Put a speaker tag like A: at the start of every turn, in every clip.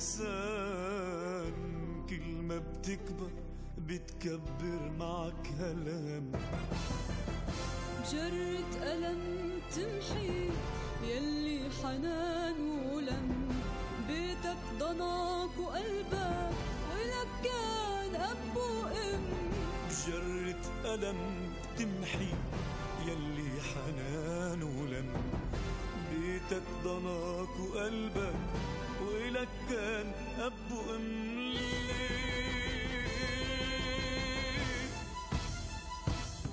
A: إنسان كل ما بتكبر بتكبر معك هالهم.
B: جرة ألم تمحي يلي حنان ولم، بيتك ضناك وقلبك ولك كان أب وأم.
A: بجرة ألم تمحي يلي حنان ولم، بيتك ضناك وقلبك ولك كان أب وأم.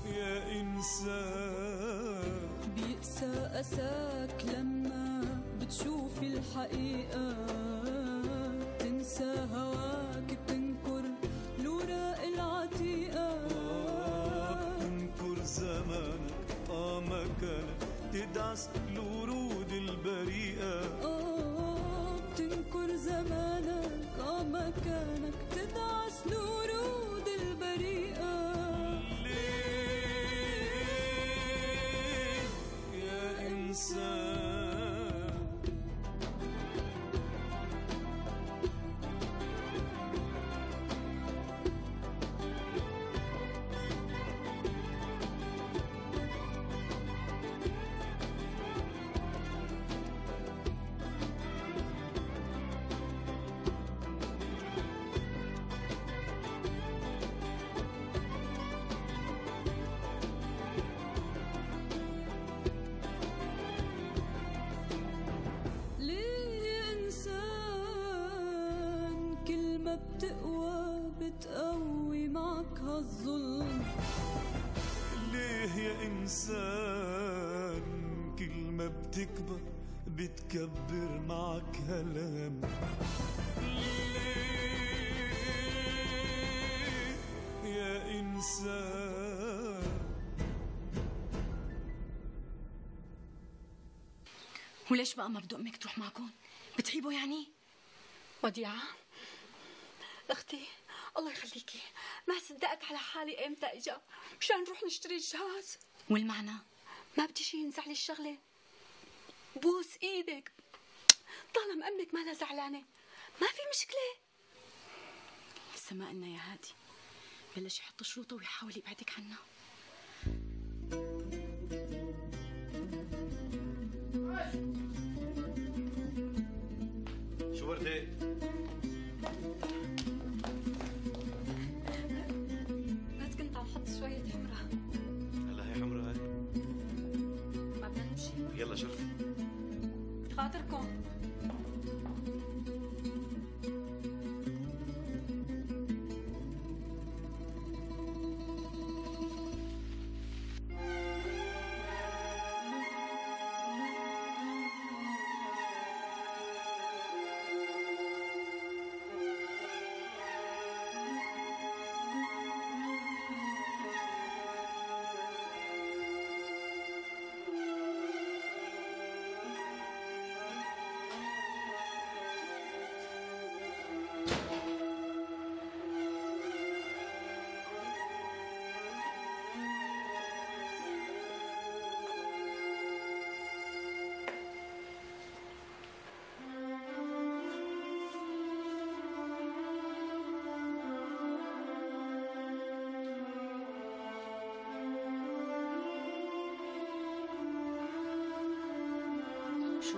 A: يا إنسان
B: بيقسى أساك لما بتشوف الحقيقة، تنسى هواك بتنكر الوراق العتيقة.
A: بتنكر زمانك مكانك تدعس الورود البريئة.
B: بتنكر زمانك مكانك تدعس الورود البريئة.
A: ليه يا إنسان
B: بتقوى بتقوي معك هالظلم.
A: ليه يا إنسان كل ما بتكبر بتكبر معك هالهم. ليه يا إنسان.
C: وليش بقى ما بدو أمك تروح معكم؟ بتعيبوا يعني؟
D: وديعة اختي الله يخليكي، ما صدقت على حالي ايمتى اجا مشان نروح نشتري الجهاز.
C: والمعنى؟
D: ما بدي شي ينزع لي الشغله. بوس ايدك طالما امك ما لها زعلانه ما في مشكله.
C: لسه ما قلنا يا هادي، بلش يحط شروطه ويحاول يبعدك عنا.
E: شو وردة؟
D: بس كنت عم حط شوية حمرة.
E: هلا هي حمرة هاي؟
D: ما بدنا نمشي؟
E: يلا شرفي.
D: خاطركم.
F: شو؟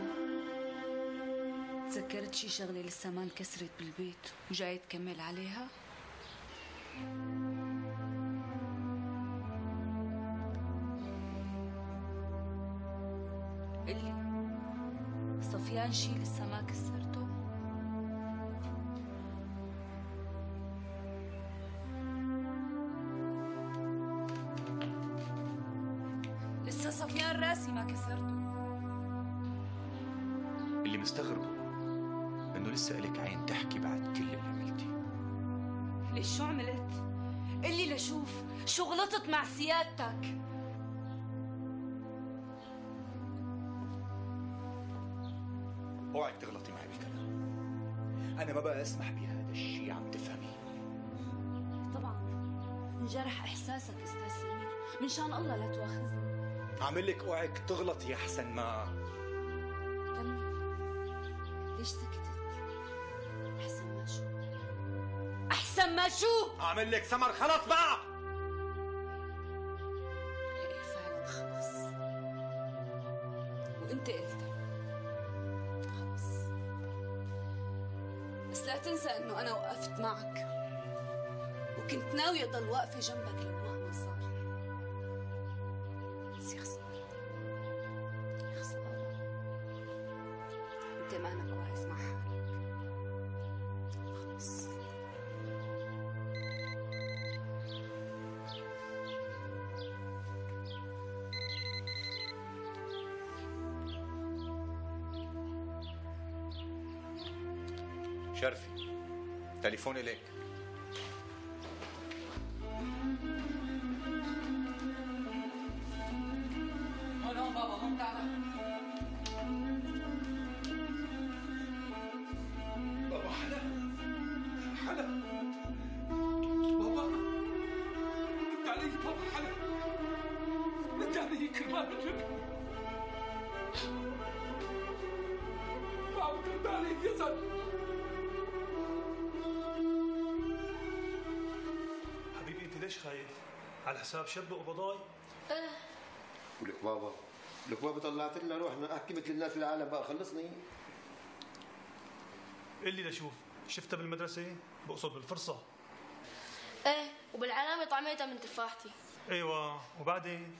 F: تذكرت شي شغلة لسه ما انكسرت بالبيت وجاي تكمل عليها؟ قلي صفيان شي لسه ما كسرته؟ لسه صفيان راسي ما كسرته.
E: اللي مستغربه انه لسه إلك عين تحكي بعد كل اللي عملتيه.
F: ليش شو عملت؟ قلي لشوف شو غلطت مع سيادتك؟
G: اوعك تغلطي معي بالكلام. انا ما بقى اسمح بهذا الشيء، عم تفهمي؟
F: طبعا انجرح احساسك استاذ سمير، من شان الله لا تواخذني.
G: عامل لك اوعك تغلطي احسن ما
F: كمل. ليش سكتت؟
C: لما شو؟
G: اعمل لك سمر خلص بقى.
C: ايه فعلا خلص، وانت قلتها خلص، بس لا تنسى انه انا وقفت معك وكنت ناوية اضل واقفة جنبك لو مهما صار. بس يا خسارة، يا خسارة، انت مانك واقف مع حالك خلص.
E: شرفي، تليفون إليك.
C: هون بابا، هون تعال.
G: بابا حلا بابا، رد علي بابا حلا، رد علي كرمال وجهك. ما عم ترد علي يا زلمه.
A: حبيبي انت ليش خايف؟ على حساب شب وقبضاي؟
H: ولك بابا طلعت لنا روحنا، احكي مثل الناس العالم بقى، خلصني.
A: قل لي لشوف، شفتها بالمدرسة؟ بقصد بالفرصة.
F: ايه، وبالعلامة طعميتها من تفاحتي.
A: ايوه، وبعدين؟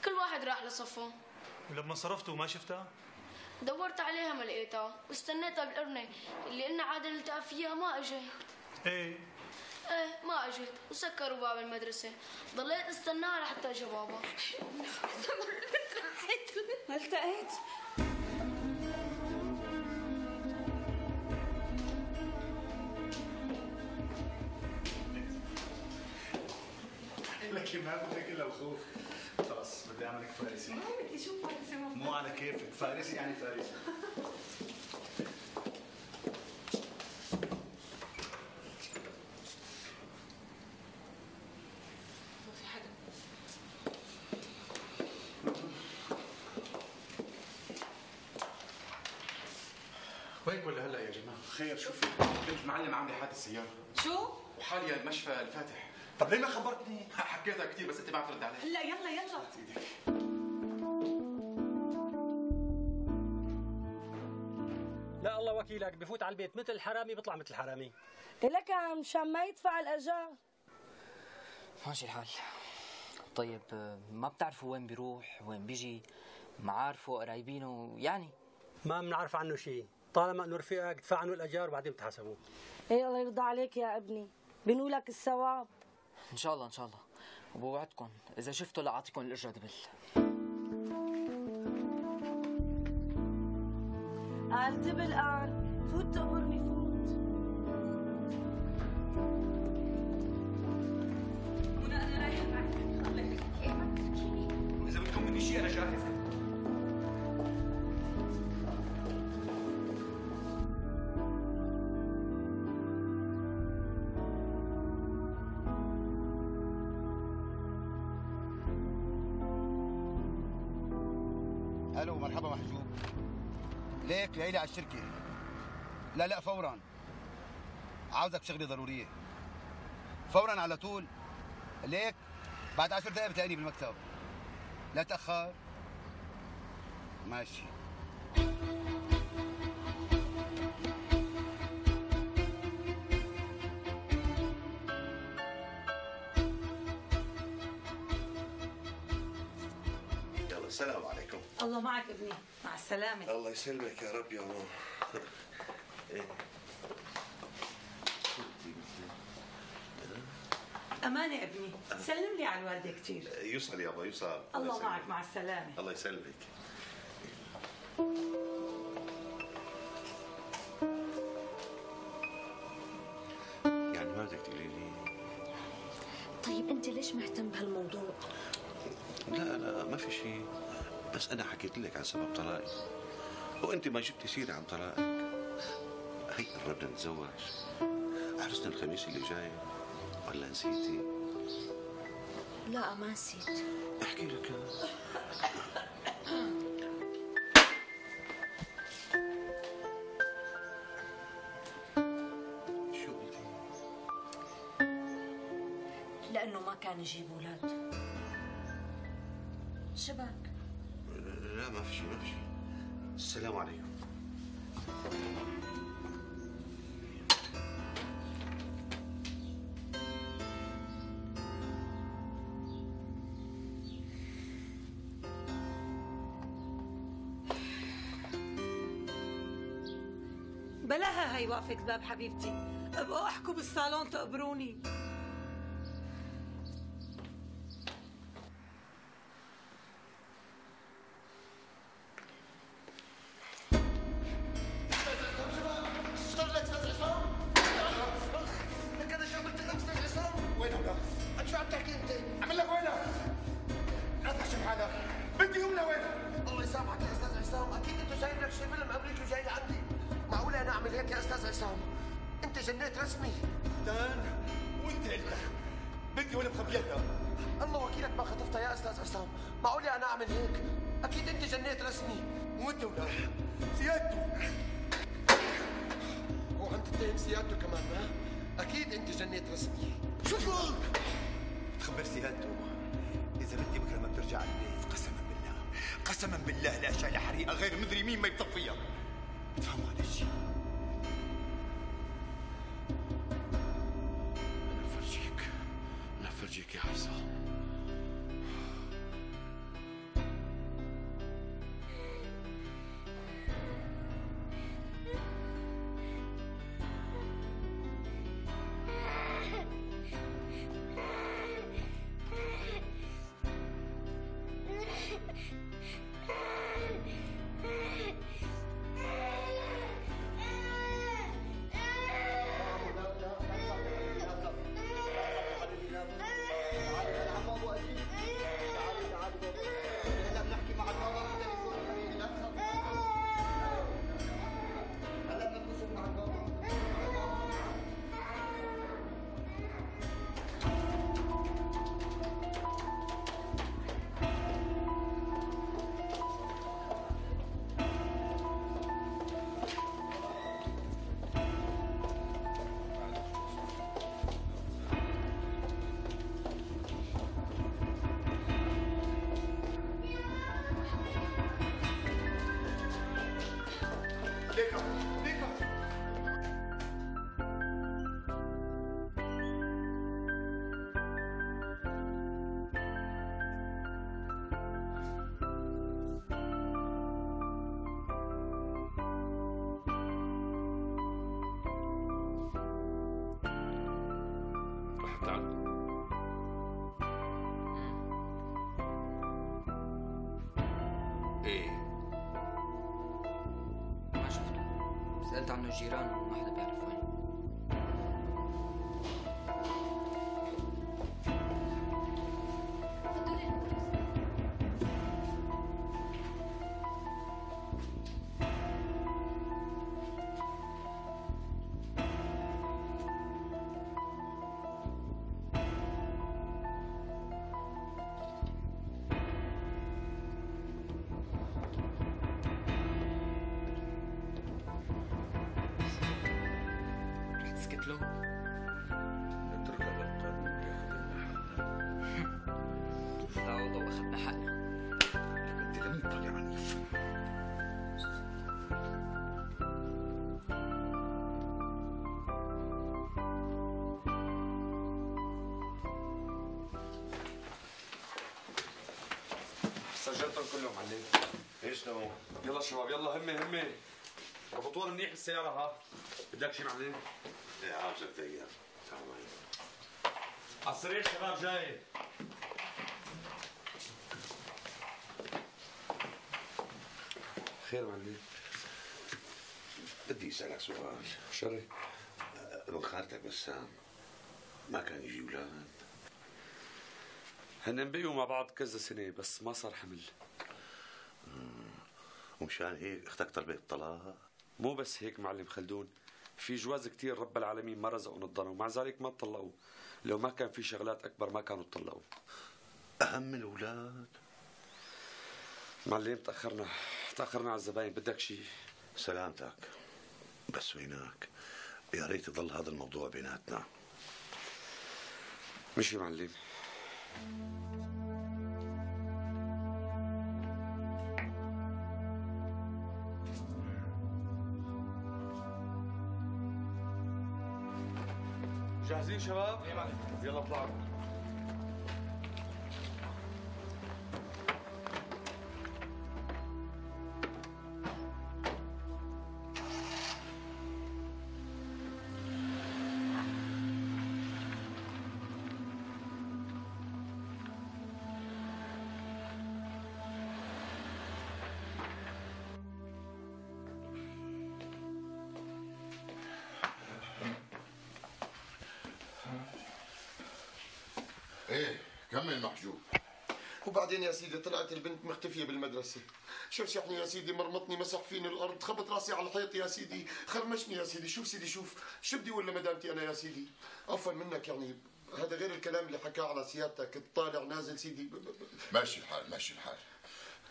F: كل واحد راح لصفه.
A: ولما صرفت وما شفتها؟
F: دورت عليها ما لقيتها، واستنيتها بالقرنة اللي قلنا عادة نلتقى فيها، ما اجت.
A: ايه
F: ما اجت، وسكروا باب المدرسة، ضليت استناها لحتى اجى بابا.
C: ما التقيت؟
I: لك ما بدك الا الخوف. خلص بدي اعملك فارسي.
C: ما بدي اشوف فارسي.
I: مو على كيفك، فارسي يعني فارسي.
C: ما في حدا.
J: وينك ولا هلا يا جماعه؟
I: خير شوفي،
J: بنت معلم عامله حادث سياره
C: شو؟
J: وحاليا المشفى الفاتح.
I: طب ليه ما خبرتني؟
J: حكيتها كثير بس انت ما عم ترد علي.
C: هلا يلا
J: ايدك.
K: لا الله وكيلك، بفوت على البيت مثل الحرامي بيطلع مثل الحرامي.
L: لك مشان ما يدفع الاجار.
M: ماشي الحال. طيب ما بتعرفوا وين بيروح وين بيجي؟ معارفه قرايبينه يعني؟
K: ما بنعرف عنه شيء، طالما انه رفيقك دفع عنه الاجار وبعدين بتحاسبوه.
L: ايه الله يرضى عليك يا ابني، بنقولك الثواب.
M: ان شاء الله ان شاء الله، وبوعدكم اذا شفتوا لاعطيكم الاجره دبل.
L: قال دبل، قال فوت تقبرني فوت.
C: منى انا رايحه معك. الله يخليك. ايه ما تحكيني.
G: اذا بدكم مني شيء انا جاهز.
H: الو، مرحبا محجوب. ليك جاي لي على الشركه. لا فورا، عاوزك شغله ضروريه فورا على طول. ليك بعد 10 دقائق بتلاقيني بالمكتب، لا تاخر. ماشي.
I: يلا السلام عليكم.
N: الله معك ابني، مع السلامة.
I: الله يسلمك يا رب يا ماما.
N: أمانة ابني، سلم لي على الوالدة كثير.
I: يوصل يابا يوصل.
N: الله معك، مع السلامة.
I: الله يسلمك. يعني ما بدك تقولي لي؟
F: طيب انت ليش مهتم بهالموضوع؟
I: لا ما في شيء، بس انا حكيت لك عن سبب طلاقي وانت ما جبتي سيره عن طلاقك. هي قربنا نتزوج، عرسنا الخميس اللي جاي، ولا نسيتي؟
F: لا ما نسيت.
I: احكي لك. شو قلتي؟
F: انه ما كان يجيب اولاد. شبك؟
I: لا ما في شيء ما في شيء. السلام عليكم.
N: بلاها هي وقفة باب حبيبتي، ابقوا احكوا بالصالون تقبروني.
G: قسما بالله لا شايله حريقه غير مدري مين ما يطفيها. تفهموا هذا الشيء؟
I: انا افرجيك يا عصام.
M: ايه ما شفته، سألت عنه الجيران وما حدا بيعرف وين.
O: سجلتهم كلهم معلم.
I: ايش نو؟
O: يلا شباب يلا همي ربطوها منيح بالسيارة ها. بدك شي معلم؟
I: ايه عاوزك دقيقة. تعال معي.
O: على السريع شباب جاي. خير معلم.
I: بدي اسألك سؤال.
O: شري.
I: ابن خالتك بسام ما كان يجي اولاد؟
O: هن بقيوا مع بعض كذا سنة بس ما صار حمل.
I: ومشان هيك اختك طلبت الطلاق؟
O: مو بس هيك معلم خلدون، في جواز كتير رب العالمين ما رزقوا الضنا ومع ذلك ما تطلقوا. لو ما كان في شغلات أكبر ما كانوا تطلقوا.
I: أهم من الأولاد؟
O: معلم تأخرنا على الزباين. بدك شيء؟
I: سلامتك. بس وينك يا ريت يضل هذا الموضوع بيناتنا.
O: مشي معلم.
G: جاهزين شباب؟ يلا اطلعوا.
P: ايه كمل محجوب.
Q: وبعدين يا سيدي طلعت البنت مختفية بالمدرسة. شرشحني يا سيدي، مرمطني، مسح فيني الأرض، خبط راسي على الحيط يا سيدي، خرمشني يا سيدي. شوف سيدي شوف، شو بدي ولا مدامتي أنا يا سيدي؟ عفوا منك يعني، هذا غير الكلام اللي حكاه على سيادتك، الطالع نازل سيدي.
P: ماشي الحال ماشي الحال،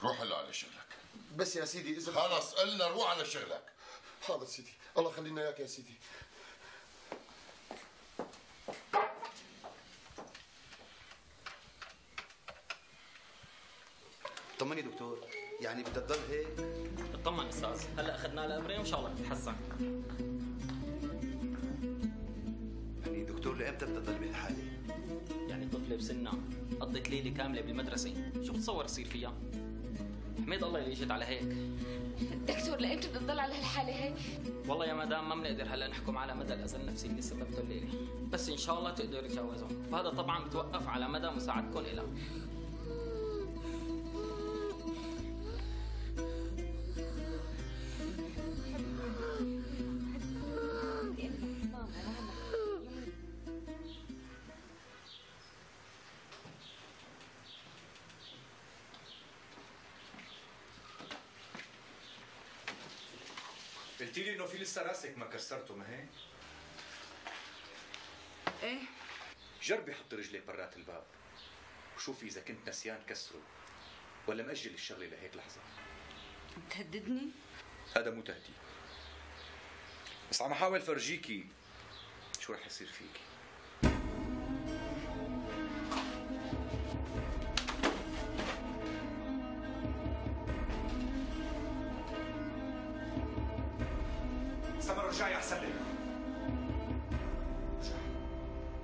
P: روح هلا على شغلك.
Q: بس يا سيدي إذا
P: خلص قلنا روح على شغلك.
Q: حاضر سيدي، الله يخلينا إياك يا سيدي.
H: طمني دكتور، يعني بدها تضل هيك؟
R: اطمن استاذ، هلا اخذنا لها امرين وان شاء الله تتحسن.
H: يعني دكتور لامتى بدها تضل بهالحاله؟
R: يعني طفله بسنها قضت ليله كامله بالمدرسه، شو بتصور يصير فيها؟ حميد الله اللي اجت على هيك.
D: دكتور لامتى بدها تضل على هالحاله هيك؟
R: والله يا مدام ما بنقدر هلا نحكم على مدى الاذى النفسي اللي سببته الليله، بس ان شاء الله تقدر تتجاوزه، وهذا طبعا بتوقف على مدى مساعدتكم لها.
G: قلتي لي انه في لسه راسك ما كسرته، ما هيك؟
C: ايه.
G: جربي حطي رجليك برات الباب وشوفي اذا كنت نسيان كسره ولا مأجل الشغله لهيك لحظه.
C: تهددني؟
G: هذا مو تهديد، بس عم احاول فرجيكي شو رح يصير فيكي. سمر رجعي احسن لك.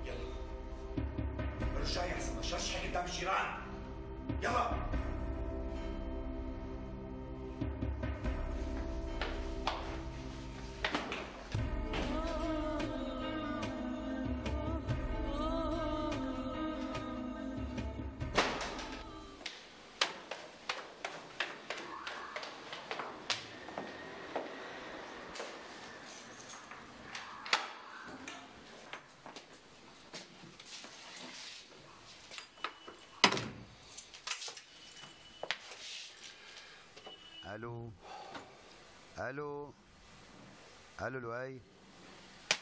G: يلا رجعي احسن، ما تشرشحي قدام الجيران. يلا.
H: الو الو الو لؤي،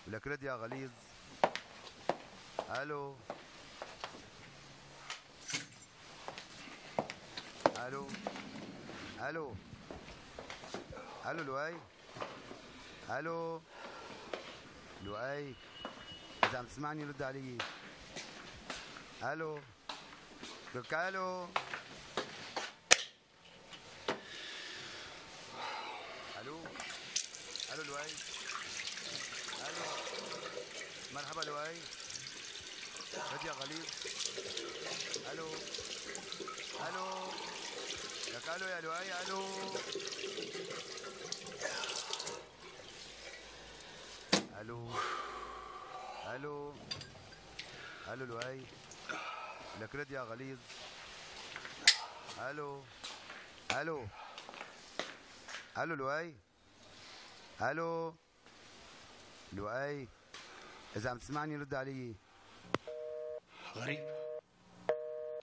H: ولك رد يا غليظ. الو الو الو الو لؤي، الو لؤي، اذا عم تسمعني رد علي. الو لك الو الو الو لؤي، الو مرحبا لؤي، رد يا غليظ. الو الو لك الو يا لؤي، الو الو الو الو لؤي، لك رد يا غليظ. الو الو الو لؤي، الو لؤي، اذا عم تسمعني رد علي.
A: غريب،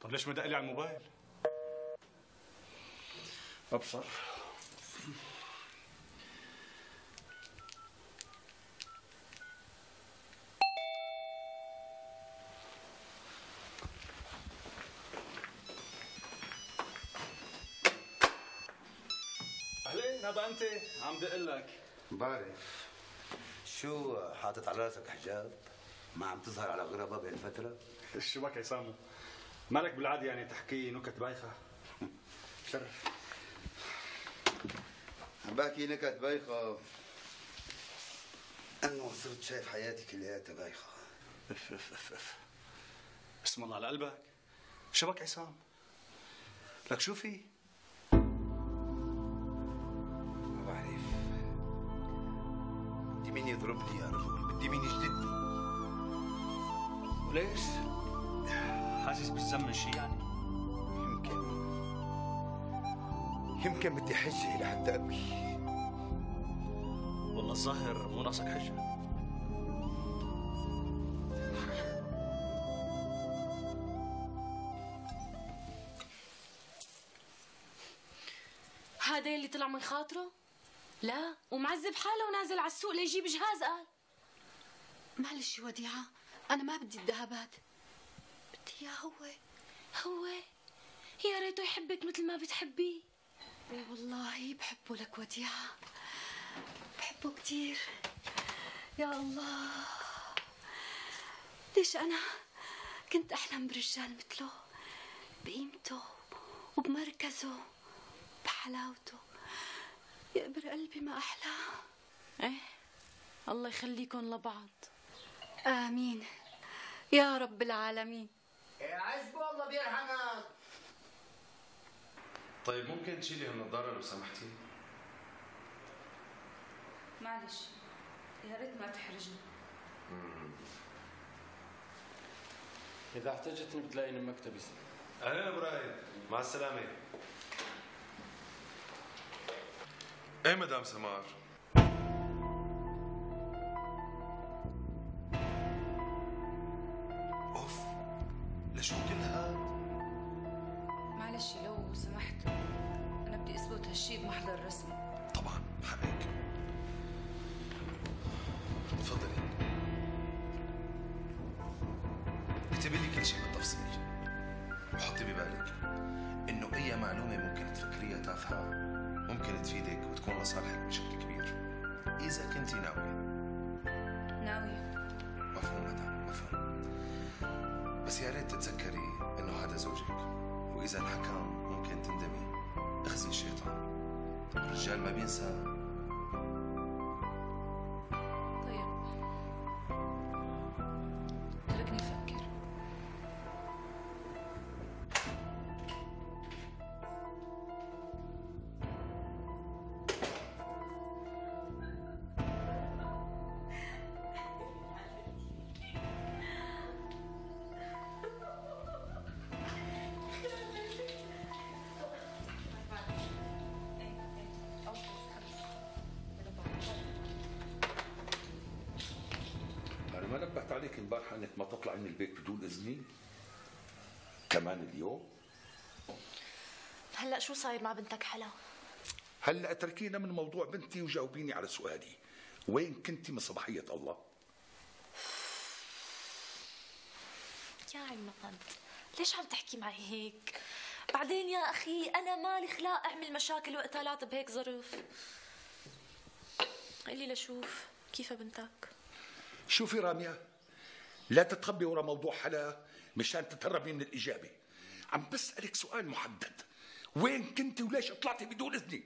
A: طب ليش ما دق لي على الموبايل؟ ابصر. اهلين، هذا انت عم دق لك.
H: بعرف. شو حاطط على راسك حجاب؟
S: ما عم تظهر على غربة بهالفترة؟
A: شو بك يا سامو؟ مالك بالعادة يعني تحكي نكت بايخة؟ شرف.
H: عم بحكي نكت بايخة انه صرت شايف حياتي كلياتها بايخة.
A: اف اف اف اف. اسم الله على قلبك. شو بك عصام؟ لك شو في؟
H: ما بعرف. بدي مين يضربني يا رجل، بدي مين يجلدني.
A: وليش؟ حاسس بالذنب من شيء يعني؟
H: يمكن بدي حجة لحتى ابكي.
A: والله الظاهر مو ناقصك حجة.
F: هذا اللي طلع من خاطره؟ لا، ومعذب حاله ونازل على السوق ليجيب جهاز. قال
D: معلش يا وديعة، أنا ما بدي الذهبات، بدي إياه هو.
F: يا ريته يحبك مثل ما بتحبيه.
D: والله بحبه لك وديعة، بحبه كتير. يا الله، ليش أنا كنت أحلم برجال مثله، بقيمته وبمركزه بحلاوته. يقبر قلبي ما أحلاه.
F: إيه، الله يخليكم لبعض.
D: آمين يا رب العالمين.
H: يا عزبه الله بيرحمك.
J: طيب ممكن تشيلي هالنظارة لو سمحتي؟
F: معلش، يا ريت ما تحرجني.
O: إذا احتجتني بتلاقيني بمكتبي.
J: أهلا إبراهيم، مع السلامة. إيه مدام سمار؟
G: أوف، لشو كل هاد؟
F: معلش لو سمحت، أنا بدي أثبت هالشي بمحضر رسمي.
G: طبعا حقك. تفضلي. اكتبي لي كل شيء بالتفصيل، وحطي ببالك إنه أي معلومة ممكن تفكريها تافهة ممكن تفيدك وتكون لصالحك بشكل كبير، إذا كنتي ناوية.
F: ناوية.
G: مفهوم مدام، مفهوم. بس يا ريت تتذكري إنه هذا زوجك، وإذا انحكم ممكن تندمي. اخزي الشيطان، الرجال ما بينسى.
F: طيب، تركني أفكر.
I: أنا ما نبهت عليك امبارح إنك ما تطلع من البيت بدون إذني؟ كمان اليوم؟
F: هلا شو صاير مع بنتك حلا؟
I: هلا اتركينا من موضوع بنتي وجاوبيني على سؤالي، وين كنتي من صباحية الله؟
F: يا عماد، ليش عم تحكي معي هيك؟ بعدين يا أخي أنا مالي خلاق أعمل مشاكل وقتالات بهيك ظرف. قلي لشوف كيف بنتك؟
I: شوفي رامية، لا تتخبي ورا موضوع حلا مشان تتهربي من الإجابة. عم بسألك سؤال محدد، وين كنتي وليش طلعتي بدون إذني؟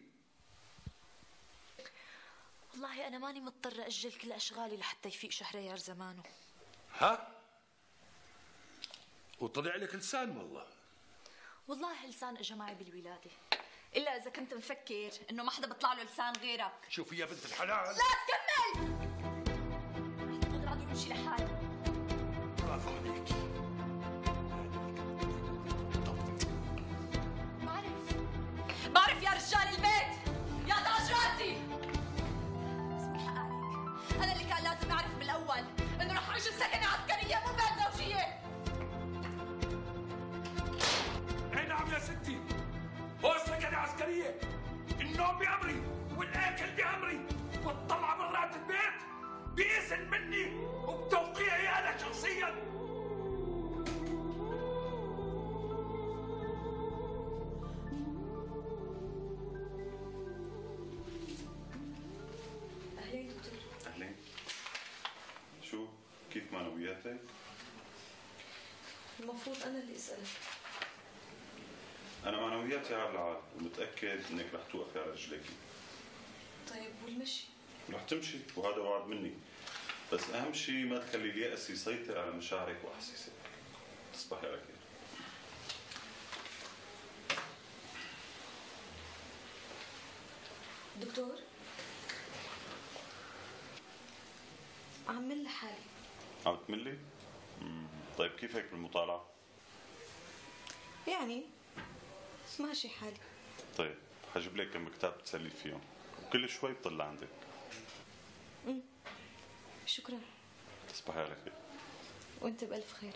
F: والله أنا ماني مضطرة أجل كل أشغالي لحتى يفيق شهريار زمانه.
I: ها؟ وطلع لك لسان والله.
F: والله لسان اجى معي بالولادة، إلا إذا كنت مفكر إنه ما حدا بيطلع له لسان غيرك.
I: شوفي يا بنت الحلال،
F: لا تكمل! ما قادر أمشي لحالي.
I: برافو عليك.
F: بعرف يا رجال البيت، يا تاج راسي. بس من حق عليك، أنا اللي كان لازم أعرف بالأول إنه رح أعيش بسكنة عسكرية مو بيت زوجية.
I: اي نعم يا ستي، هو سكنة عسكرية. النوم بأمري والأكل بأمري والطلعة برات البيت بإذن مني وبتوقيعي أنا شخصيا.
J: أهلين. شو؟ كيف
T: معنوياتك؟
L: المفروض أنا اللي أسألك.
T: أنا معنوياتي على العال ومتأكد إنك رح توقفي على رجليكي.
L: طيب والمشي؟
T: رح تمشي وهذا وعد مني، بس أهم شيء ما تخلي اليأس يسيطر على مشاعرك وأحاسيسك. تصبحي على خير.
L: دكتور، عم مل حالي.
T: عم تملي؟ طيب كيف هيك بالمطالعة؟
L: يعني ماشي حالي.
T: طيب حجيب لك كم كتاب تسلي فيهم وكل شوي بطلع عندك.
L: شكرا.
T: تصبحي على خير.
L: وانت بألف خير.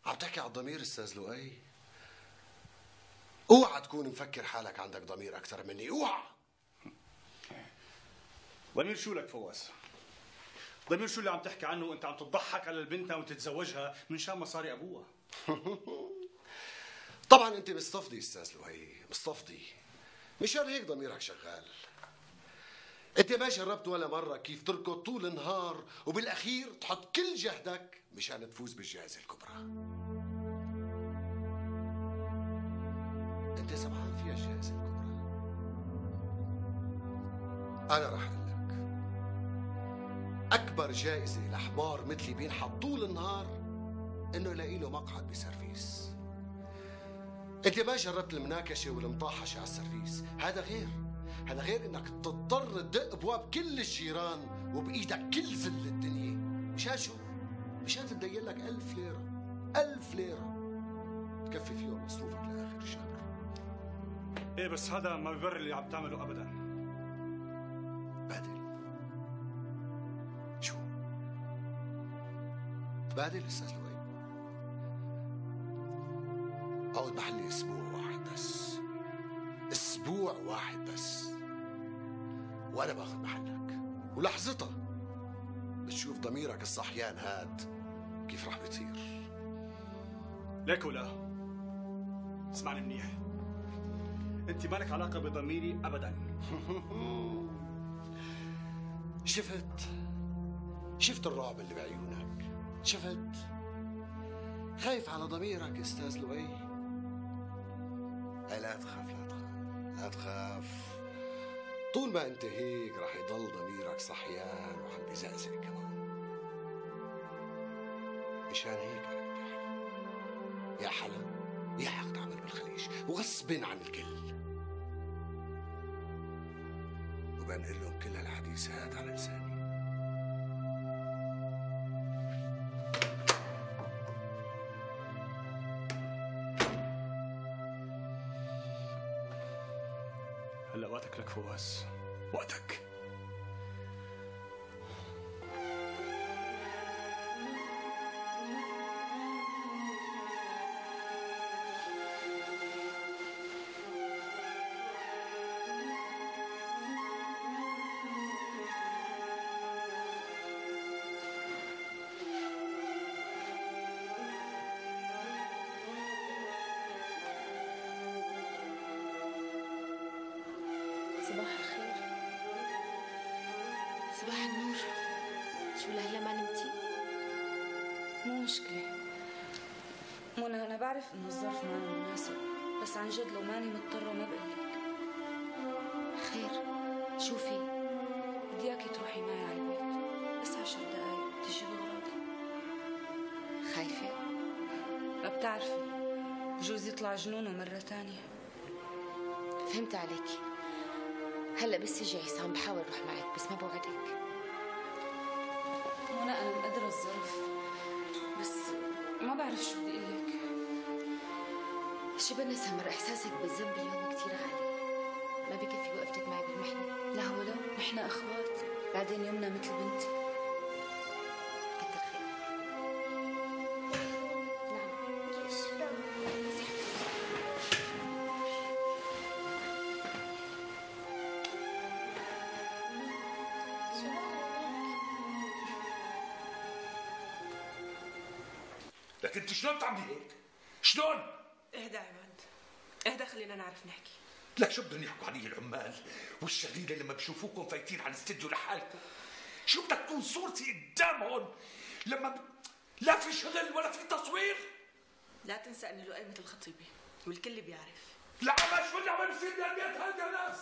U: عم تحكي على الضمير استاذ لؤي؟ اوعى تكون مفكر حالك عندك ضمير اكثر مني، اوعى.
A: ضمير شو لك فواز؟ ضمير شو اللي عم تحكي عنه وانت عم تضحك على البنت وتتزوجها من شان مصاري ابوها؟
U: طبعا انت مستفضي استاذ لؤي، مستفضي. مشان هيك ضميرك شغال. انت ما جربت ولا مره كيف تركض طول النهار وبالاخير تحط كل جهدك مشان تفوز بالجائزه الكبرى. انت سمعان فيها الجائزه الكبرى؟ انا رح اقول لك اكبر جائزه لحمار مثلي بينحط طول النهار انه يلاقي له مقعد بسيرفيس. انت ما جربت المناكشه والمطاحشه على السيرفيس، هذا غير انك تضطر تدق ابواب كل الجيران وبايدك كل ذل الدنيا. مشان شو؟ مشان تدين لك 1000 ليره، 1000 ليره تكفي فيهم مصروفك لاخر الشهر.
A: ايه بس هذا ما بيبرر اللي عم تعمله ابدا.
U: بادل شو؟ تبادل استاذ لؤي؟ اقعد محلي اسبوع واحد بس، اسبوع واحد بس، وانا باخذ محلك، ولحظتها بتشوف ضميرك الصحيان هاد كيف رح بيطير.
A: ليك ولا اسمعني منيح، انت مالك علاقه بضميري ابدا.
U: شفت الرعب اللي بعيونك؟ شفت؟ خايف على ضميرك استاذ لؤي؟ لا تخاف، لا تخاف، لا تخاف. طول ما انت هيك رح يضل ضميرك صحيان وعم بيزقزق كمان. مشان هيك انا بدي حلا، يا حلا يا عقد عمل بالخليج وغصب عن الكل، وبنقل لهم كل هالحديث هاد على لساني.
A: هلا وقتك لك فواز، وقتك.
C: صباح الخير. صباح النور. شو لهلا ما نمتي؟
L: مو مشكلة منى، أنا بعرف إنه الظرف ما مناسب، بس عن جد لو ماني مضطرة ما بقلك.
C: خير، شو في؟
L: بدي إياكي تروحي معي على البيت بس 10 دقايق تجي بغراضي.
C: خايفة؟
L: ما بتعرفي بجوز يطلع جنونه مرة تانية.
C: فهمت عليكي. هلا بس يجي عصام بحاول اروح معك بس ما بوعدك.
L: منى انا مقدرة الظرف بس ما بعرف شو بدي اقول لك.
C: شبنا سمر، احساسك بالذنب اليوم كثير عالي، ما بكفي وقفتك معي بالمحنة.
L: لا ولو نحن اخوات، بعدين يمنا مثل بنتي.
C: كتر خير.
V: لكن انت شلون بتعملي هيك؟ شلون؟
N: اهدى عماد،
F: اهدى خلينا نعرف نحكي.
B: لك شو بدهم يحكوا علي العمال والشغيله لما بشوفوكم فايتين على الاستديو لحالكم؟ شو بدك تكون صورتي قدامهم لما لا في شغل ولا في تصوير؟
F: لا تنسى انه لؤي مثل الخطيبه والكل بيعرف.
B: لا شو اللي عم بيصير بالبيت هذا يا ناس؟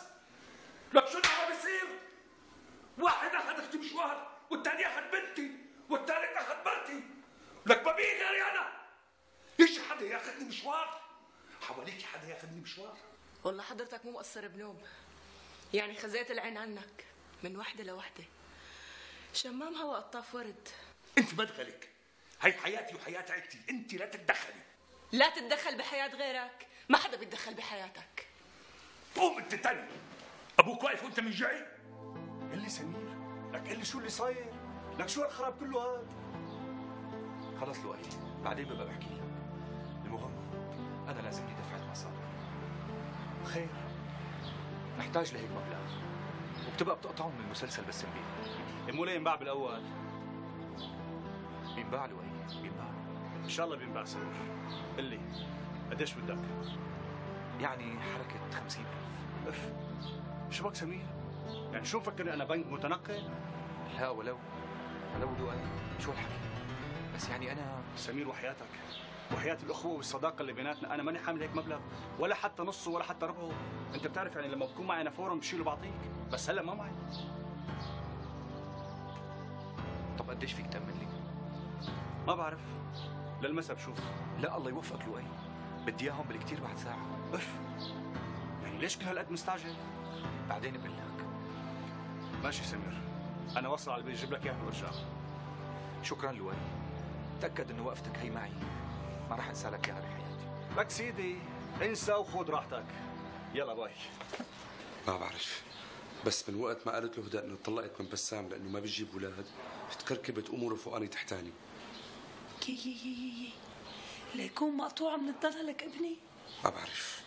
B: لك شو اللي عم بيصير؟ واحد اخذ اختي مشوار والثاني اخذ بنتي والثالث اخذ مرتي. لك ما بي غيري انا. يجي حدا ياخذني مشوار؟ حواليك حدا ياخذني مشوار؟
F: والله حضرتك مو مقصر بنوب، يعني خزيت العين عنك من وحده لوحده. شمام هوا قطاف ورد.
B: انت بدخلك، هي حياتي وحياة عيلتي، انت لا تتدخلي.
F: لا تتدخل بحياة غيرك، ما حدا بيتدخل بحياتك.
B: قوم انت تاني، ابوك واقف وانت من جاي؟
A: قل لي سمير، لك قل لي شو اللي صاير؟ لك شو هالخراب كله هاد؟
E: خلص لؤي، بعدين ببقى بحكي لك. المهم انا لازمني دفعة مصاري.
A: خير؟
E: نحتاج لهيك مبلغ وبتبقى بتقطعهم من المسلسل بس نبيع.
A: مو لينباع بالاول؟
E: بينباع لؤي، بينباع.
A: ان شاء الله بينباع سمير. قل لي قديش بدك؟
E: يعني حركة 50,000.
A: اف شو بك سمير؟ يعني شو مفكرني انا بنك متنقل؟
E: لا ولو لؤي، شو الحكي؟ بس يعني انا
A: سمير وحياتك وحياة الأخوة والصداقة اللي بيناتنا أنا ماني حامل هيك مبلغ ولا حتى نصه ولا حتى ربعه. أنت بتعرف يعني لما بكون معي أنا فورا بشيله بعطيك، بس هلا ما معي.
E: طب قديش فيك تأمن لي؟
A: ما بعرف، للمسا بشوف.
E: لا الله يوفقك لؤي، بدي اياهم بالكثير بعد ساعة.
A: اف يعني ليش كل هالقد مستعجل؟
E: بعدين بقول لك.
A: ماشي سمير، أنا وصل على البيت جيب لك إياهم وارجع.
E: شكرا لؤي، تأكد إنه وقفتك هي معي ما راح أنسى لك إياها بحياتي.
A: لك سيدي انسى وخذ راحتك. يلا باي.
O: ما بعرف، بس من وقت ما قالت له هدى انه طلقت من بسام لانه ما بتجيب اولاد تكركبت اموره فوقاني تحتاني.
N: يي ليكون مقطوعة من الضلع لك ابني.
O: ما بعرف.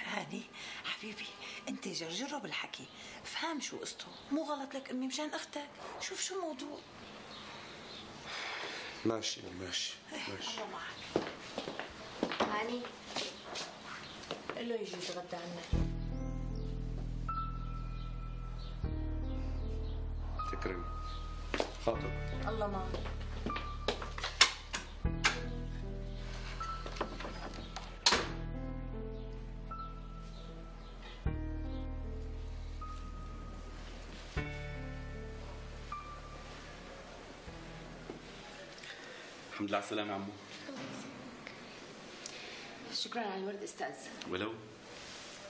N: هاني حبيبي انت جرجره بالحكي، فهم شو قصته، مو غلط لك امي مشان اختك، شوف شو الموضوع.
O: ماشي.
N: الله معك.
C: هاني
F: قل له يجي يتغدى عنا.
O: تكرم خاطر.
F: الله معك.
V: الحمد لله على السلامة يا عمو.
C: شكرا على الورد استاذ.
V: ولو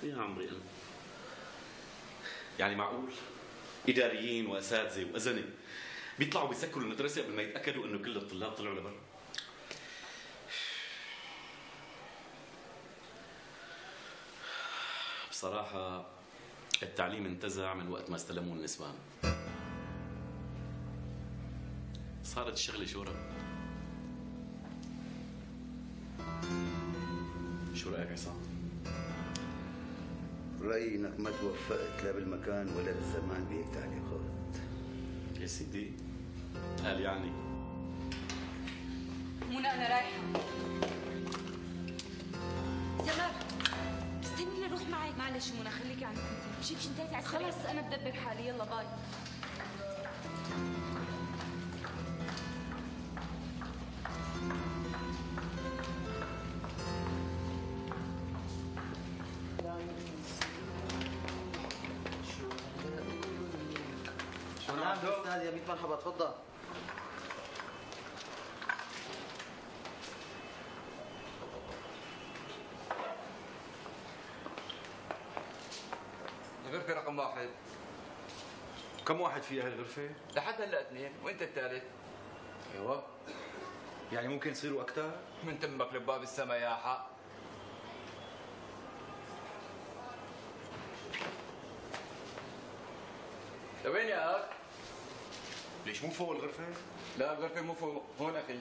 V: يا عمري أنا يعني معقول إداريين وأساتذة وأزنة بيطلعوا بيسكروا المدرسة قبل ما يتأكدوا إنه كل الطلاب طلعوا لبرا؟ بصراحة التعليم انتزع من وقت ما استلموه النسوان. صارت الشغلة شورى. شو رأيك عصام؟
S: رأيي انك ما توفقت لا بالمكان ولا بالزمان بهيك تعليقات.
V: يا سيدي قال يعني.
L: منى انا رايحة. سمر استني لروح معك. معلش منى خليكي عندك انت. مشي انتهيتي على السريع. خلص انا بدبر حالي، يلا باي.
W: نعم استاذ يا ميت مرحبا تفضل.
X: الغرفة رقم 1.
E: كم واحد فيها هالغرفة؟
X: لحد هلا 2 وانت الثالث.
E: ايوه يعني ممكن يصيروا أكثر؟
X: من تمك لباب السما يا حق. لوين يا اخ؟
E: ليش مو فوق الغرفة؟
X: لا الغرفة مو فوق، هون اخي.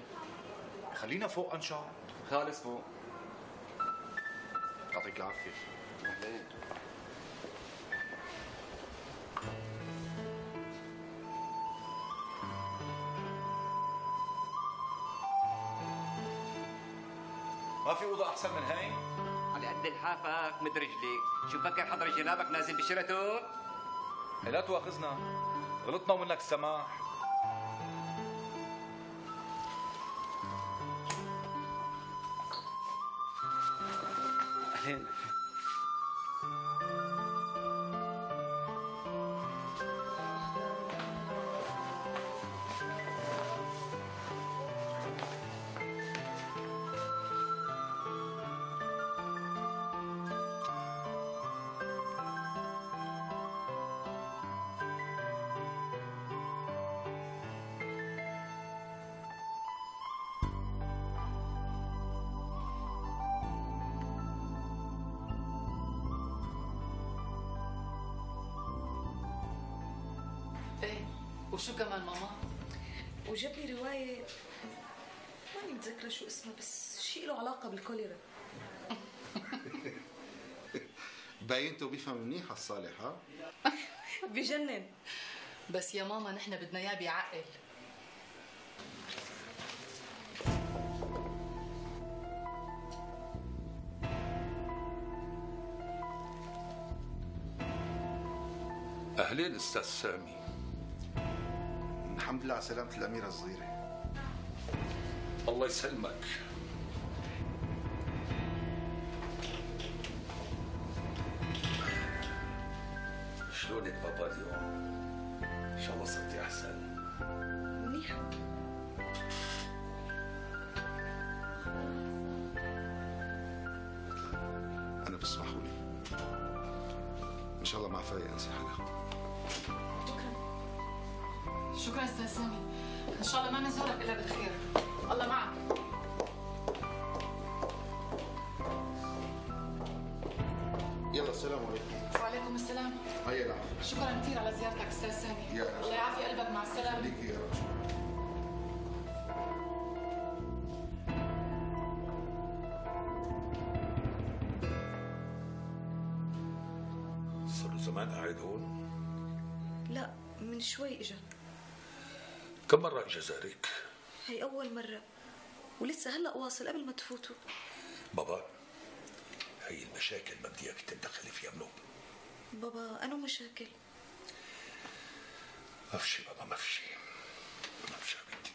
E: خلينا فوق أنشا.
X: خالص فوق.
E: يعطيك العافية.
X: أهلين.
E: ما في أوضة أحسن من هاي؟
X: عن
K: على قد لحافك مد رجليك، شو فكر حضرة جنابك نازل بشيراتون؟
B: لا تواخذنا، غلطنا ومنك السماح.
K: أهلين.
F: ايه وشو كمان ماما؟
L: وجاب لي رواية ماني متذكرة شو اسمها، بس شيء له علاقة بالكوليرا.
G: باينته بيفهم منيح الصالح ها؟
L: بجنن.
F: بس يا ماما نحن بدنا اياه بيعقل.
B: أهلين أستاذ سامي.
G: الحمد لله على سلامة الأميرة الصغيرة.
B: الله يسلمك. شلونك بابا اليوم؟ إن شاء الله صرتي أحسن.
L: منيح.
G: أنا بسمحوا لي. إن شاء الله مع فايق أنسى حالها.
F: شكرا استاذ سامي، ان شاء الله ما نزورك الا بالخير. الله معك.
G: يلا السلام عليكم.
F: وعليكم السلام.
G: هيا العافية.
F: شكرا كثير على زيارتك استاذ سامي.
G: يا
F: الله يعافي قلبك، مع السلامه.
G: خليكي يا رب.
B: صار له زمان قاعد هون؟
L: لا، من شوي اجا.
B: كم مرة اجى زارك؟
L: هي أول مرة، ولسه هلا واصل قبل ما تفوتوا.
B: بابا هي المشاكل ما بدي اياك تتدخلي فيها منو؟
L: بابا أنا مشاكل.
B: ما في شيء بابا، ما في شيء. ما في شيء حبيبتي.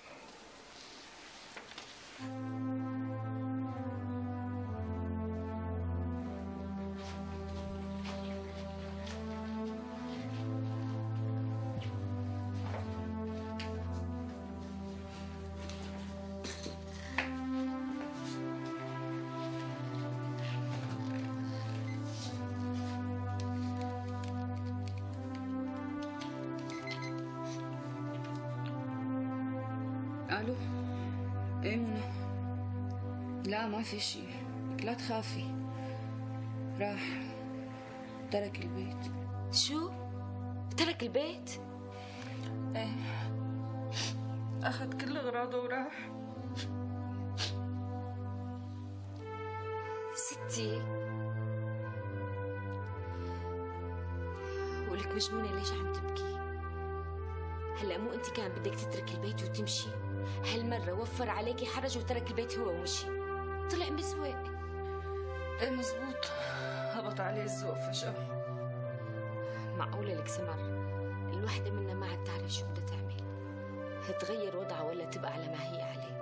L: الو. ايه منى؟ لا ما في شيء، لا تخافي. راح ترك البيت.
C: شو؟ ترك البيت؟
L: ايه، اخذ كل اغراضه وراح.
C: ستي ولك مجنونة، ليش عم تبكي؟ هلا مو انت كان بدك تترك البيت وتمشي؟ هالمرة وفر عليكي حرج وترك البيت هو ومشي، طلع مسوق.
L: ايه مزبوط، هبط عليه الذوق فجأة.
C: معقولة لك سمر الوحدة منا ما عاد تعرف شو بدها تعمل؟ هتغير وضعها ولا تبقى على ما هي عليه؟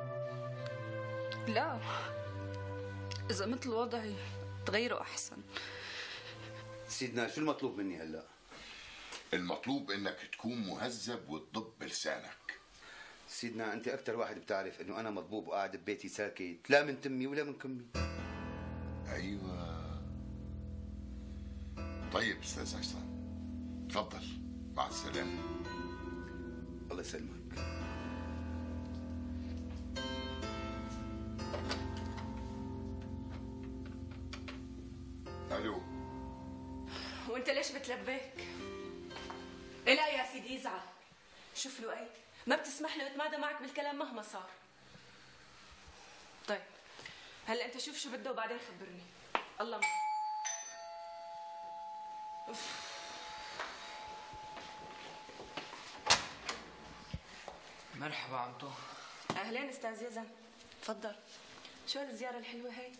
L: لا، إذا مثل وضعي تغيره أحسن.
H: سيدنا شو المطلوب مني هلا؟
M: المطلوب انك تكون مهذب وتضب بلسانك.
H: سيدنا انت اكثر واحد بتعرف انه انا مضبوب وقاعد ببيتي ساكت، لا من تمي ولا من كمي.
M: ايوه. طيب استاذ عصام، تفضل، مع السلامه.
H: الله يسلمك.
M: الو.
F: وانت ليش بتلبيك؟ لا يا سيدي يزعل. شوف لؤي، ما بتسمح لي اتمادى معك بالكلام مهما صار. طيب هلا انت شوف شو بده وبعدين خبرني. الله معك.
R: مرحبا عمتو.
F: اهلين استاذ يزن، تفضل. شو هالزيارة الحلوة هي؟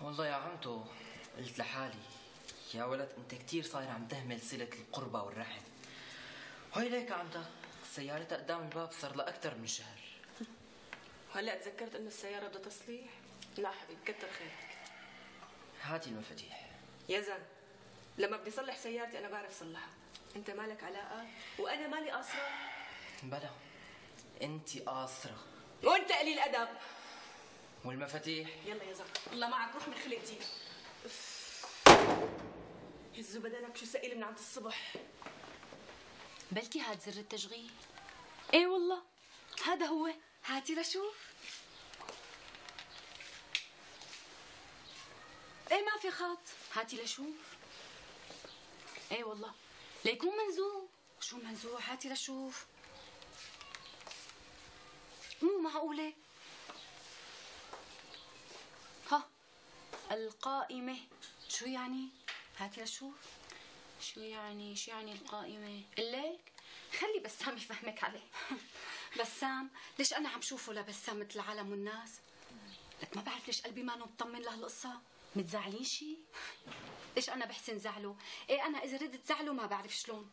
R: والله يا عمتو قلت لحالي يا ولد انت كتير صاير عم تهمل صلة القربة والرحم. هاي ليك عمتك سيارتها قدام الباب صار لها أكثر من شهر.
F: هلا تذكرت انه السيارة بدها تصليح؟ لا حبيبي كتر خيرك.
R: هاتي المفاتيح.
F: يا زلمة لما بدي صلح سيارتي انا بعرف صلحها، انت مالك علاقة وانا مالي قاصرة؟
R: بلا انت قاصرة
F: وانت قليل ادب.
R: والمفاتيح؟
F: يلا يا زلمة الله معك روح من خلق دي. هزوا بدنك شو ثقيل من عند الصبح.
C: بلكي هاد زر التشغيل. ايه والله هذا هو، هاتي لشوف. ايه ما في خط، هاتي لشوف. ايه والله ليكون منزوع. شو منزوع؟ هاتي لشوف. مو معقولة. ها القائمة شو يعني؟ هاتي لشوف. شو يعني القائمة؟ قلك خلي بسام يفهمك عليه. بسام ليش أنا عم شوفه لبسام مثل العالم والناس؟ لك ما بعرف ليش قلبي ما مطمن لهالقصة. متزعلين شي؟ ليش أنا بحسن زعله؟ إيه أنا إذا ردت زعله ما بعرف شلون.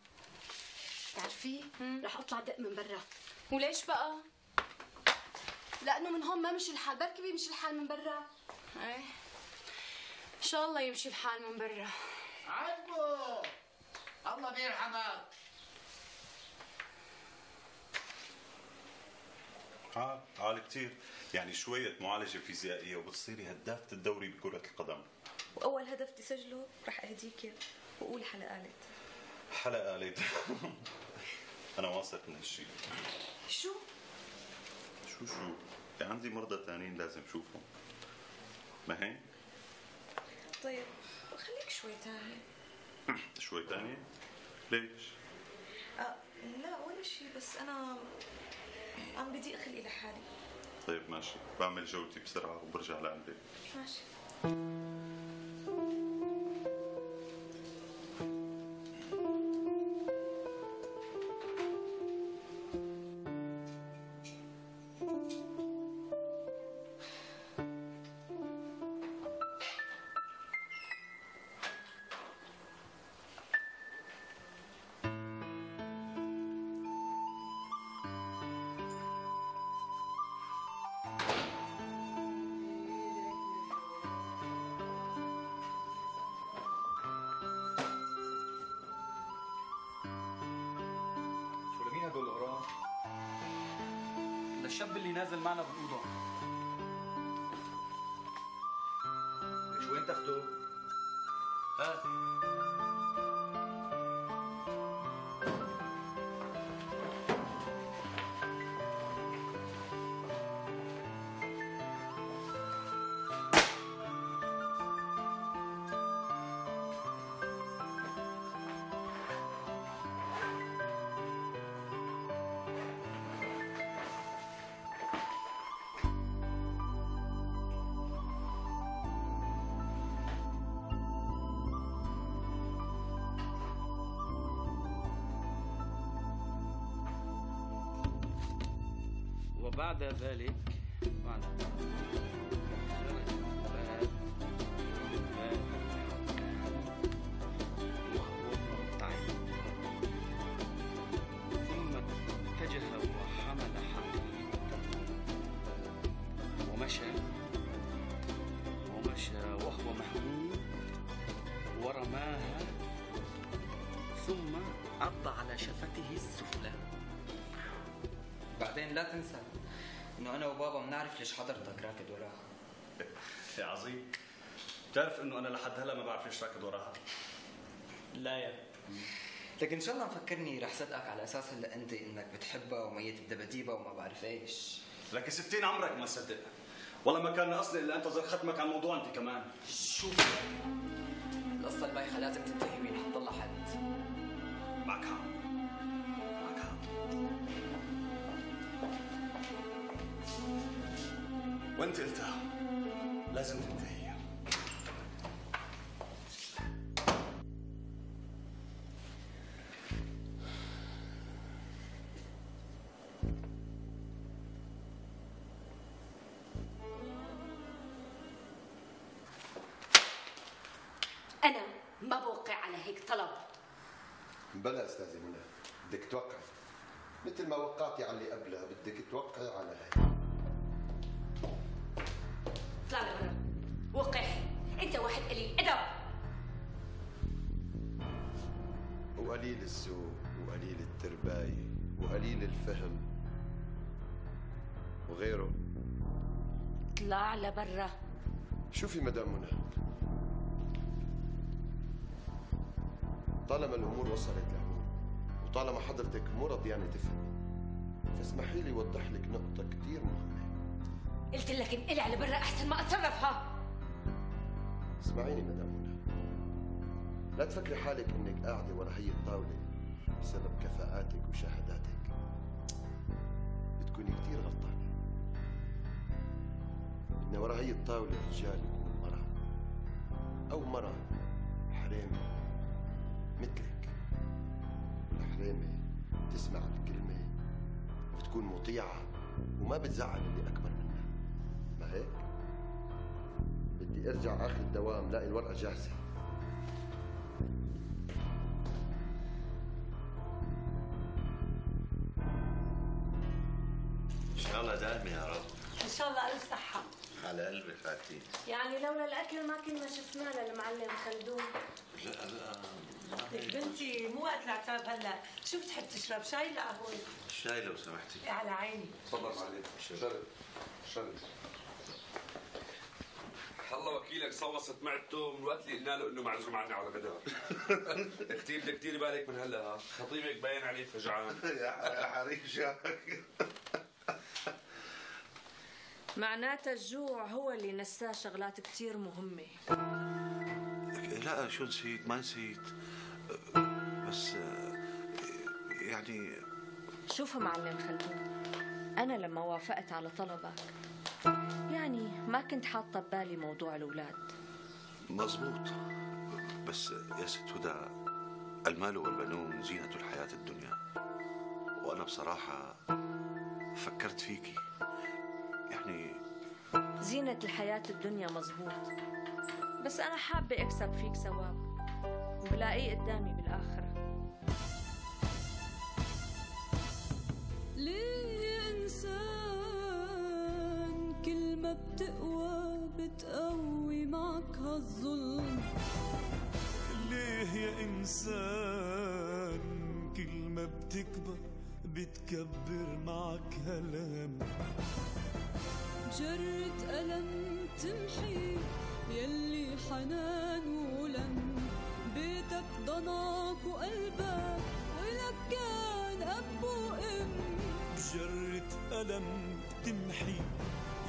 C: بتعرفي؟ رح أطلع دق من برا. وليش بقى؟ لأنه من هون ما مشي الحال، بركي بيمشي الحال من برا. إيه إن شاء الله يمشي الحال من برا.
D: عجبو الله بيرحمك.
T: عال كتير، يعني شوية معالجة فيزيائية وبتصيري هدافة الدوري بكرة القدم.
F: واول هدف تسجله رح اهديك اياه وقول حلقة قالت.
T: حلقة قالت. أنا واثق من هالشيء.
F: شو؟
T: يعني عندي مرضى تانيين لازم شوفهم. ما هيك؟
F: طيب خليك شوي تاني.
T: شوي تاني؟ ليش؟
F: لا ولا شيء، بس أنا عم بضيق خلقي لحالي.
T: طيب ماشي، بعمل جولتي بسرعة وبرجع لعندك.
F: ماشي.
A: الشاب اللي نازل معنا بالأوضة.
H: ليش وين تاخده؟
A: هات. وبعد ذلك وهو مرتعد، ثم اتجه وحمل حقيبته ومشى وهو مهموم ورماها، ثم عض على شفته السفلى.
R: بعدين لا تنسى انه انا وبابا بنعرف ليش حضرتك راكد وراها.
A: يا عظيم، بتعرف انه انا لحد هلا ما بعرف ليش راكد وراها.
R: لا يا لكن ان شاء الله مفكرني رح صدقك على اساس هلا انت انك بتحبها وميت بدباديبها وما بعرف ايش.
A: لك 60 عمرك ما صدق. والله ما كان قصدي الا انتظر ختمك على الموضوع انت كمان.
R: شوف القصه البايخه لازم تنتهي وينحط لها حد.
A: معك حق. وانت قلتها لازم تنتهي.
C: ما بوقع على هيك طلب.
U: بلا استاذه منى، بدك توقعي مثل ما وقعتي على اللي قبلها، بدك توقعي على هي.
C: اطلع لبرا، وقح، انت واحد قليل ادب
U: وقليل الذوق وقليل الترباية وقليل الفهم وغيره.
C: اطلع لبرا.
U: شوفي مدام منى، طالما الامور وصلت لهون وطالما حضرتك مو رضيانه تفهمي، فاسمحي لي اوضح لك نقطه كثير مهمه.
C: قلت لك انقلع على برا احسن ما اتصرفها.
U: اسمعيني مدام منى، لا تفكري حالك انك قاعده ورا هي الطاوله بسبب كفاءاتك وشهاداتك. بتكوني كثير غلطانه. ان ورا هي الطاوله رجال يكون مرأة او مرأة حريمه مثلك، والحريمه تسمع الكلمه وبتكون مطيعه وما بتزعل اللي اكبر منها. ما هيك؟ بدي ارجع اخر الدوام لاقي الورقه جاهزه.
T: ان شاء الله دائما يا رب.
N: ان شاء الله الف صحه.
T: على قلبك خالتي.
I: يعني لولا الاكل ما كنا شفناه للمعلم خلدون.
T: لا
N: لك بنتي مو وقت العتاب هلا، شو بتحب تشرب، شاي ولا قهوه؟
T: الشاي لو سمحتي.
N: على عيني.
O: تفضل معلم. شرب شرب. الله وكيلك صوصت معدته من وقت اللي قلنا له انه معزوم عنا على الغداء. اختي بدك ديري بالك من هلا، خطيبك باين عليه فجعان.
T: يا حريشك.
I: معناتها الجوع هو اللي نساه شغلات كتير مهمة.
T: لا شو نسيت؟ ما نسيت، بس يعني
I: شوف معلم خلدون، أنا لما وافقت على طلبك يعني ما كنت حاطة ببالي موضوع الأولاد.
T: مزبوط، بس يا ست هدى، المال والبنون زينة الحياة الدنيا، وأنا بصراحة فكرت فيكي يعني.
I: زينة الحياة الدنيا مزبوط، بس أنا حابة أكسب فيك ثواب وبلاقيه قدامي بالآخرة.
F: ليه يا إنسان كل ما بتقوى بتقوي معك هالظلم؟
B: ليه يا إنسان كل ما بتكبر بتكبر معك هالهم؟ جرة ألم تمحي يلي حنان ولم، بيتك ضناك وقلبك ولك كان أب وأم. جرة ألم تمحي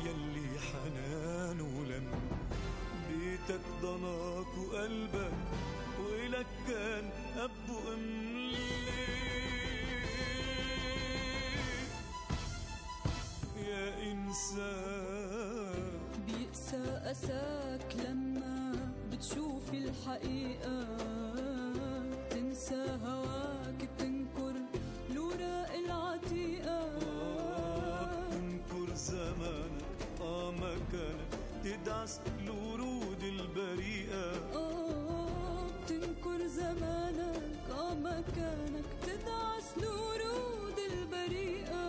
B: يلي حنان ولم، بيتك ضناك وقلبك ولك كان أب وأم. يا إنسان بيقسى أساك لما بتشوف الحقيقة، تنسى هواك بتنكر الوراق العتيقة. بتنكر زمانك مكانك تدعس الورود البريئة. بتنكر زمانك مكانك تدعس الورود البريئة.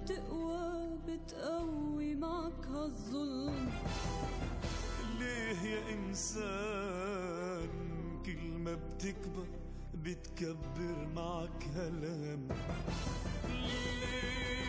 B: بتقوى بتقوي معك هالظلم؟ ليه يا إنسان كل ما بتكبر بتكبر معك هالهم؟ ليه